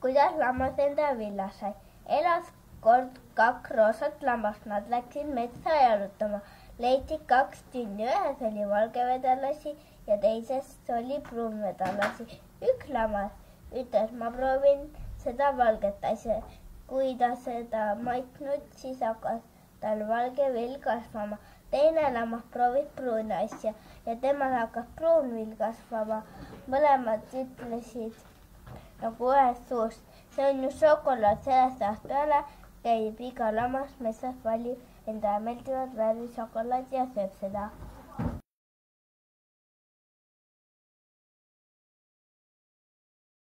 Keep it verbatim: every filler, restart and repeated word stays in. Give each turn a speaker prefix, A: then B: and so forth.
A: kuidas lammas enda villa sai. Elas kord kaks roosat lammast, nad läksid metsa jalutama. Leiti kaks tünni, ühes oli valgevedalasi ja teises oli pruunvedalasi. Üks lammas ütles, ma proovin seda valget asja. Kui ta seda maitnud, siis hakkas tal valge vill kasvama. Teine lammas proovis pruuni asja ja temal hakkas pruun vill kasvama. Mõlemad ütlesid nagu ühest suust. See on ju šokolaad, sellest ajast peale käib iga lammas metsas valib endale meeldivat värvi šokolaadi ja sööb seda.